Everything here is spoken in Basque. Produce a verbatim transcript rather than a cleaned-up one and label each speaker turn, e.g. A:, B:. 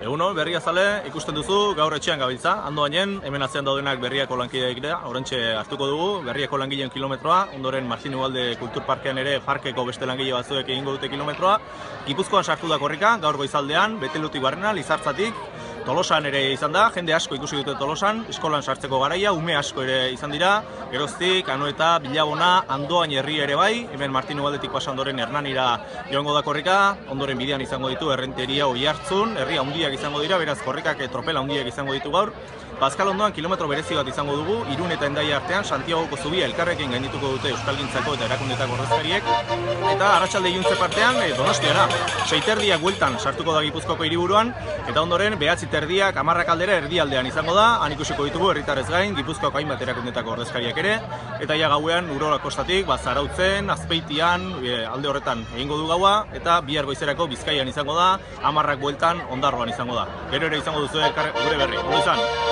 A: Egunon, Berriazale, ikusten duzu, gaur etxean gabiltza. Andoainen, hemen atzean daudenak Berriako lankideak dira, oraintxe hartuko dugu, Berriako langileen kilometroa, ondoren Martin Ugalde Kulturparkean ere parkeko beste langile batzuek egingo dute kilometroa. Gipuzkoan sartu da korrika, gaur goizaldean, Betelutik barrena, Lizartzatik, Tolosan ere izan da, jende asko ikusi dute Tolosan, eskolan sartzeko garaia, ume asko ere izan dira, Geroztik, Anoeta, Bilabona, Andoain herri ere bai, hemen Martin Ugaldetik pasa ondoren Hernanira joango da korrika, ondoren bidean izango ditu Errenteria, Oiartzun, herri handiak izango dira, beraz korrikak tropela handiak izango ditu gaur. Bazkal ondoan kilometro berezi bat izango dugu, Irun eta Hendaia artean, Santiagoko zubia elkarrekin gaindituko dute Euskalgintzako eta erakundetako ordezkariek, eta arratsalde iluntze partean e, Donostiara. Seiterdiak bueltan sartuko da Gipuzkoako hiriburuan, eta ondoren behatzi terdiak hamarrak aldera erdialdean izango da, han ikusiko ditugu herritarrez gain, Gipuzkoako hainbat erakundetako ordezkariak ere, eta ja gauean Urola kostatik, Zarautzen, Azpeitian, e, alde horretan egingo du gaua, eta bihar goizerako Bizkaian izango da, hamarrak bueltan Ondarroan izango da. Gero ere izango duzu gure berri. Ondo izan.